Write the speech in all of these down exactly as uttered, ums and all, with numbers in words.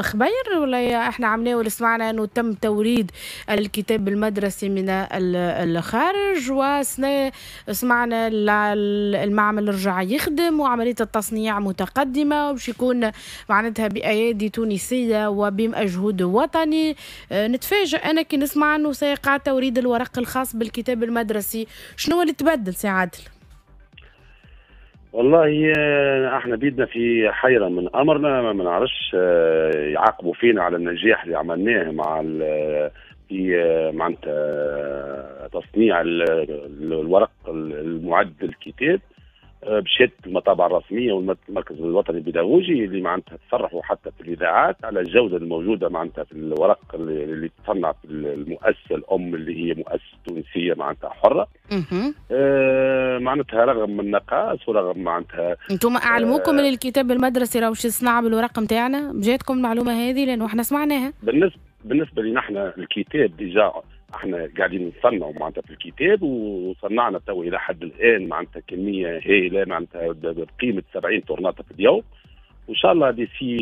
خبير ولا احنا عملناه ولا سمعنا انه تم توريد الكتاب المدرسي من الخارج، وسنا سمعنا المعمل رجع يخدم وعملية التصنيع متقدمة وباش يكون معناتها بأيادي تونسية وبمجهود وطني. نتفاجئ أنا كي نسمع أنه سيقع توريد الورق الخاص بالكتاب المدرسي. شنو اللي تبدل سي عادل؟ والله احنا بيدنا في حيرة من أمرنا، ما نعرفش يعاقبوا فينا على النجاح اللي عملناه مع في معناتها تصنيع الورق المعد للكتاب بشهادة المطابع الرسمية والمركز الوطني البيداغوجي اللي معناتها تصرحوا حتى في الاذاعات على الجودة الموجودة معناتها في الورق اللي تصنع في المؤسسة الام اللي هي مؤسسة تونسية معناتها حره. آه معناتها رغم النقائص ورغم معناتها انتم اعلموكم من آه الكتاب المدرسي راهو باش يصنع بالورق نتاعنا؟ جاتكم المعلومة هذه لانه احنا سمعناها. بالنسبة بالنسبة لنا احنا الكتاب déjà احنا قاعدين نصنعوا معناتها في الكتاب، وصنعنا تو الى حد الان معناتها كمية هائلة معناتها بقيمة سبعين طرناطه في اليوم، وان شاء الله d'ici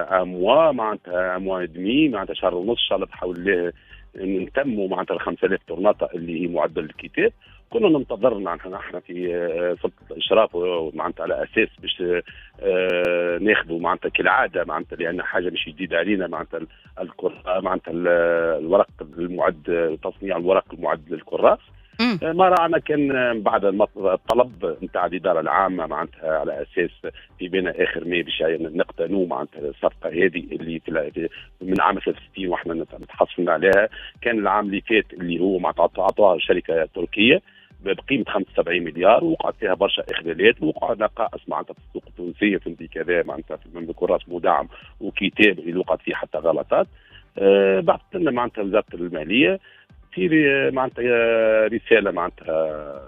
un mois معناتها un mois et demi معناتها شهر ونص ان شاء الله بحول الله نتموا معناتها ال خمسة آلاف طرناطه اللي هي معدل الكتاب. كنا ننتظر معناتها نحن في سلطة الاشراف معناتها على اساس باش ناخذوا معناتها كالعادة معناتها لان حاجة مش جديدة علينا معناتها الكرة معناتها الورق المعد تصنيع الورق المعد للكراس. ما رانا كان بعد الطلب نتاع الادارة العامة معناتها على اساس في بين اخر ماي باش نقتنوا معناتها الصفقة هذه اللي في من عام ثلاثة وستين واحنا نتحصلنا عليها. كان العام اللي فات اللي هو معناتها عطاها شركة تركيه بقيمة خمسة وسبعين مليار، وقعت فيها برشا اخلالات وقع نقائص معناتها في السوق التونسية في كذا معناتها من كراس مدعم وكتاب اللي وقعت فيه حتى غلطات. أه بعثت لنا معناتها وزارة المالية في معناتها رسالة معناتها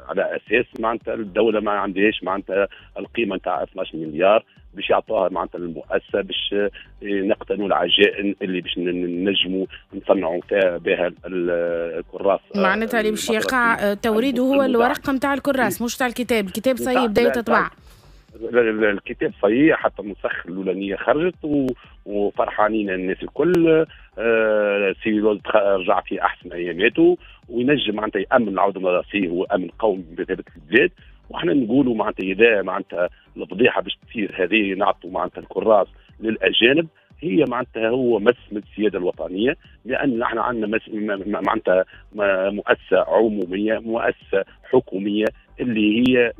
على اساس معناتها الدولة ما عندهاش معناتها القيمة نتاع اثناش مليار باش يعطوها معناتها للمؤسسه باش نقتنوا العجائن اللي باش نجموا نصنعوا فيها بها الكراس. معناتها اللي باش يقع توريده هو الورق نتاع الكراس مش تاع الكتاب، الكتاب صحيح بدا يتطبع. الكتاب صحيح حتى النسخ الاولانية خرجت وفرحانين الناس الكل. آه سيلول رجع في احسن اياماته وينجم معناتها يامن العودة المدرسية، هو امن قومي بثابت البلاد. وحنا نقولوا معناتها اذا معناتها الفضيحة باش تصير هذه نعطوا معناتها الكراس للاجانب، هي معناتها هو مس من السيادة الوطنية، لان نحن عندنا معناتها مؤسسة عموميه مؤسسة حكومية اللي هي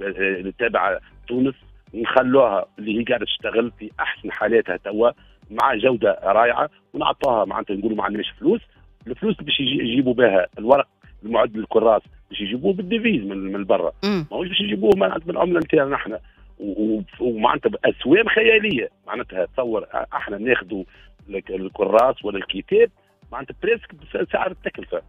تابعه تونس، نخلوها اللي هي قاعدة تشتغل في احسن حالاتها توا مع جوده رائعة، ونعطوها معناتها نقولوا ما عندناش فلوس، الفلوس باش يجيبوا بها الورق المعد للكراس باش يجيبوه بال devise من من برا، ماهوش باش يجيبوه معناتها بالعملة نتاعنا نحن، ومعناتها باسوام خيالية. معناتها تصور احنا ناخذوا الكراس ولا الكتاب معناتها presque بسعر التكلفة،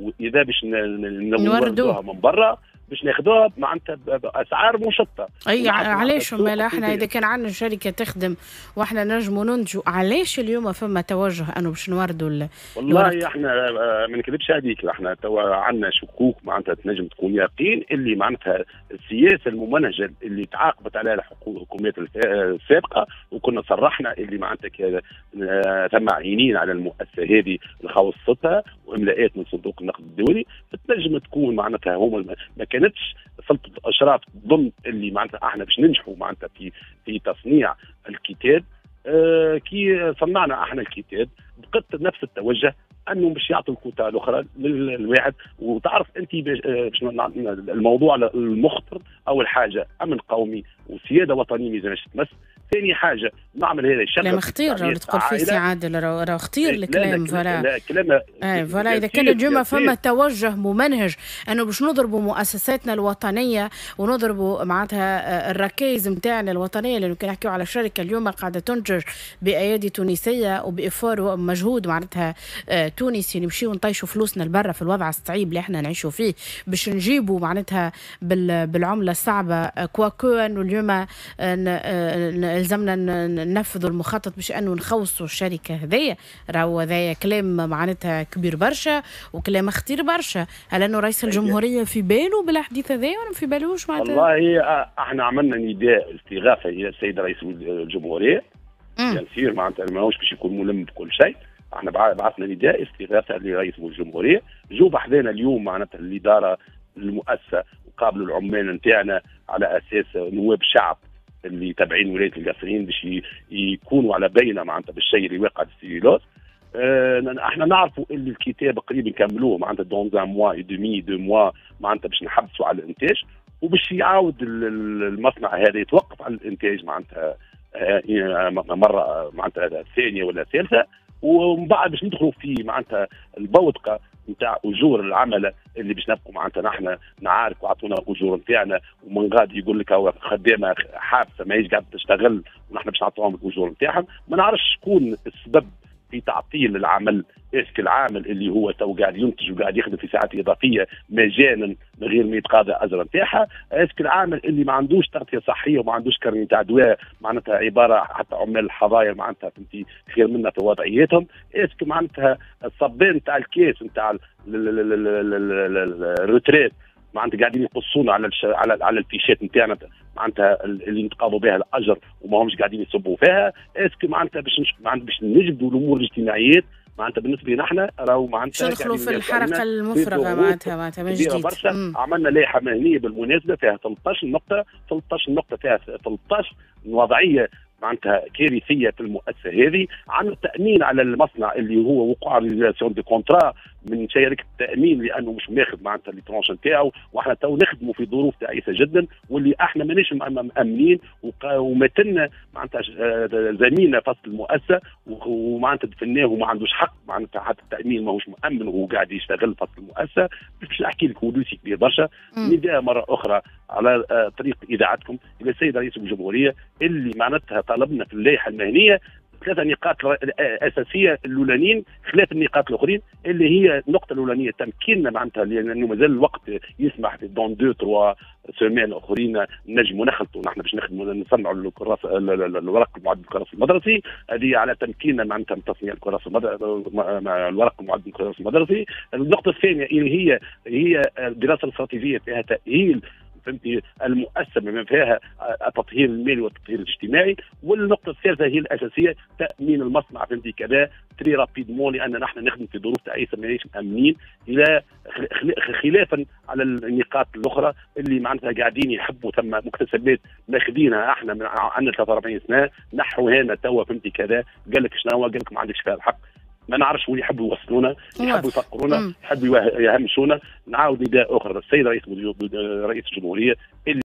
واذا باش نوردوها من برا باش ناخذوها معناتها باسعار مشطه. اي علاش ما احنا اذا كان عندنا شركة تخدم واحنا نجموا ننتجوا، علاش اليوم فما توجه انه باش نوردوا؟ والله احنا ما نكذبش عليك، احنا توا عندنا شكوك معناتها تنجم تكون يقين اللي معناتها السياسة الممنهجه اللي تعاقبت عليها الحكومات السابقة، وكنا صرحنا اللي معناتها ثم عينين على المؤسسة هذه لخوصتها واملاءات من صندوق النقد الدولي، تنجم تكون معناتها هما ما كانتش سلطة الاشراف ضمن اللي معناتها احنا باش ننجحوا معناتها في في تصنيع الكتاب. آه كي صنعنا احنا الكتاب بقت نفس التوجه انه باش يعطوا الكوتا الاخرى للواحد. وتعرف انت باش الموضوع المخطر، اول حاجة امن قومي وسياده وطنية ما لازمش تمس، ثاني حاجة نعمل هذا الشغل. كلام خطير راهو تقول فيه سي عادل، راهو خطير الكلام. voilà لا كلام اي voilà. اذا كان اليوم فما توجه ممنهج انه باش نضربوا مؤسساتنا الوطنية ونضربوا معناتها الركائز نتاعنا الوطنية، لانه كي نحكيو على شركة اليوم قاعدة تنتج بايادي تونسية وب effort ومجهود معناتها تونسي، نمشيو نطيشوا فلوسنا لبرا في الوضع الصعيب اللي احنا نعيشوا فيه باش نجيبوا معناتها بالعملة الصعبة، quoique انه اليوم لزمنا ننفذوا المخطط باش انه نخوصوا الشركة هذيا. راهو هذايا كلام معناتها كبير برشا وكلام خطير برشا. هل انه رئيس الجمهورية في باله بالحديث هذايا ولا في بالوش معناتها؟ والله احنا عملنا نداء استغاثة الى السيد رئيس الجمهورية. bien sûr معناتها ماهوش باش يكون ملم بكل شيء. احنا بعثنا نداء استغاثة لرئيس الجمهورية، جو بحذانا اليوم معناتها الادارة المؤسسة وقابلوا العمال نتاعنا على اساس نواب شعب اللي تابعين ولاية القصرين باش يكونوا على بينه معناتها بالشيء اللي واقع في السيلوز. اه احنا نعرفوا اللي الكتاب قريب نكملوه معناتها dans un mois et demi deux mois معناتها باش نحبسوا على الانتاج، وباش يعاود المصنع هذا يتوقف على الانتاج معناتها مرة معناتها ثانية ولا ثالثة، ومن بعد باش ندخلوا في معناتها البوتقه نتاع اجور العملة اللي باش نبقوا معناتها نحن نعارك وعطونا اجور نتاعنا، ومن غادي يقول لك هو خدامه حابسه ماهيش قاعدة تشتغل ونحن باش نعطوهم الاجور نتاعهم. ما نعرفش شكون السبب في تعطيل العمل، est-ce que العامل اللي هو تو قاعد ينتج وقاعد يخدم في ساعات اضافية مجانا من غير ما يتقاضى اجر نتاعها، est-ce que العامل اللي ما عندوش تغطيه صحية وما عندوش carnet نتاع دواء معناتها عبارة حتى عمال الحظاير معناتها فهمتي خير منا في وضعيتهم، est-ce que معناتها الصبان نتاع ال caisse نتاع ال retraite معناتها قاعدين يقصونا على الش... على على الفيشات نتاعنا معناتها اللي نتقاضوا بها الاجر وما همش قاعدين يصبوا فيها، est-ce que معناتها باش نش... معناتها باش نجبدوا الامور الاجتماعيات معناتها بالنسبة لنا احنا راهو معناتها ندخلوا في الحركة المفرغه معناتها معناتها من جديد برشا. عملنا لائحة مهنية بالمناسبة فيها ثلاثة عشر نقطة، ثلاثة عشر نقطة فيها ثلاثة عشر وضعية معناتها كارثية في المؤسسة هذه. عندنا التامين على المصنع اللي هو وقع résiliation de contrat من شركة التامين لانه مش ماخذ معناتها les tranches نتاعو، واحنا تو نخدموا في ظروف تعيسه جدا واللي احنا ماناش مامنين، وماتلنا معناتها زميلنا فصل المؤسسة ومعناتها دفناه وما عندوش حق معناتها حتى التامين ماهوش مامن وهو قاعد يشتغل فصل المؤسسة. باش نحكي لك dossier كبير برشا. نداء مرة اخرى على طريق اذاعتكم الى السيد رئيس الجمهورية اللي معناتها طلبنا في اللائحة المهنية ثلاثة نقاط اساسية الاولانيين خلاف النقاط الاخرين اللي هي النقطة الاولانية تمكيننا معناتها لانه مازال الوقت يسمح في dans deux trois semaines اخرين نجموا نخلطوا نحن باش نخدموا نصنعوا الكراس الورق المعد بالكراس المدرسي، هذه على تمكيننا معناتها من تصنيع الكراس الورق المعد بالكراس المدرسي. النقطة الثانية اللي هي هي الدراسة الاستراتيجية فيها تاهيل فهمتي المؤسسة بما فيها التطهير المالي والتطهير الاجتماعي. والنقطة الثالثة هي الاساسية تامين المصنع فهمتي كذا très rapidement لان نحن نخدم في ظروف تعيسه ماناش مامنين، الى خلافا على النقاط الاخرى اللي معناتها قاعدين يحبوا ثم مكتسبات ماخذينها احنا من عندنا ثلاثة وأربعين سنة نحو هنا توا فهمتي كذا قال لك شنو قال لك ما عندكش فيها الحق. ما نعرفش وين يحبوا يوصلونا، يحبوا يفقرونا، يحبوا يهمشونا. نعاود نداء اخر للسيد رئيس رئيس الجمهورية اللي